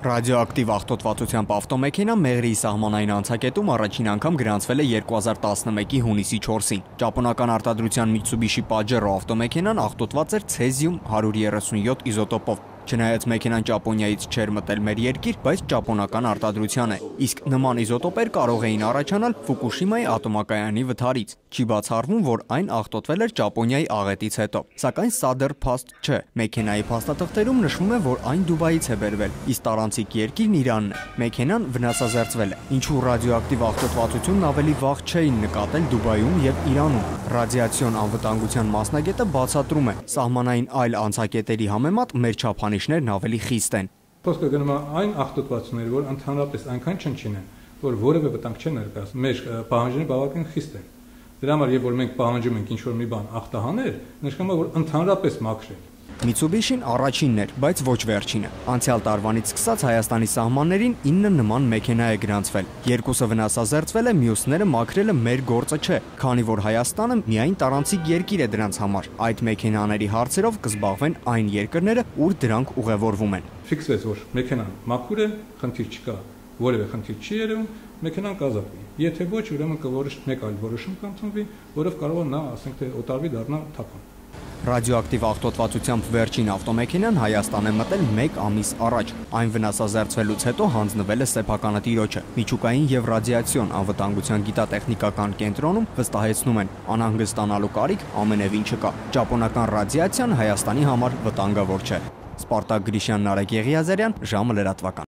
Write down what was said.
Ռադիոակտիվ աղտոտվածությամբ ավտոմեքենա Մեղրիի սահմանային անցակետում առաջին անգամ գրանցվել է 2011-ի հունիսի 4-ին։ Ճապոնական արտադրության Mitsubishi Pajero ավտոմեքենան աղտոտված էր ցեզիում 137 իզոտոպով։ Չնայած մեքենան Ճապոնիայից չէր մտել մեր երկիր, բայց ճապոնական արտադրության է։ Իսկ նման իզոտոպեր կարող էին առաջանալ Ֆուկուշիմայի ատոմակայանի վթարից։ Չի բացառվում, որ այն աղտոտվել էր Ճապոնիայի աղետից հետո։ Սակայն սա դեռ փաստ չէ։ Մեքենայի փաստաթղթերում նշվում է, որ այն Դուբայից է բերվել, իսկ տարանցիկ երկիրն Իրանն է։ Մեքենան վնասազերծվել է։ Ինչու ռադիոակտիվ աղտոտվածությունն ավելի վաղ չէին նկատել Դուբայում եւ Իրանում։ Ռադիացիոն անվտանգության մասնագետը բացատրում է, սահմանային այլ անցակետերի համեմատ մեր չափանիշներն ավելի խիստ են։ Խոսքը գնում է այն աղտոտվածությունների, որ ընդհանրապես այնքան չնչին են, որ որևէ վտանգ չեն ներկայացնում։ Մեր պահանջները բավական խիստ են։ Դրա համար, երբ որ մենք պահանջում ենք ինչ-որ մի բան ախտահանել, նշանակում է, որ ընդհանրապես մաքրել։ Mitsubishi-ն առաջինն էր, բայց ոչ վերջինը։ Անցյալ տարվանից սկսած Հայաստանի սահմաններին 9 նման մեքենա է գրանցվել։ Երկուսը վնասազերծվել է, մյուսները մաքրելը մեր գործը չէ, քանի որ Հայաստանը միայն տարանցիկ երկիր է դրանց համար։ Այդ մեքենաների հարցերով կզբաղվեն այն երկրները, ուր դրանք ուղևորվում են։ Ֆիքսվեց, որ մեքենան մաքուր է, խնդիր չկա, որևէ խնդիր չի երևում, մեքենան կազատվի։ Եթե ոչ, ուրեմն կորոշ մեկ այլ որոշում կընդունվի, որով կարող է նա, ասենք թե օտարվի դառնա թափան։ Ռադիոակտիվ աղտոտվածությամբ վերջին ավտոմեքենան Հայաստան է մտել 1 ամիս առաջ։ Այն վնասազերծվելուց հետո հանձնվել է սեփականը տիրոջը։ Միջուկային եւ ռադիացիոն անվտանգության գիտատեխնիկական կենտրոնում վստահեցնում են, անհանգստանալու կարիք ամենևին չկա։ Ճապոնական ռադիացիան Հայաստանի համար վտանգավոր չէ։ Սպարտակ Գրիշյան, Նարեկ Եղիազարյան, ժամը լրատվական։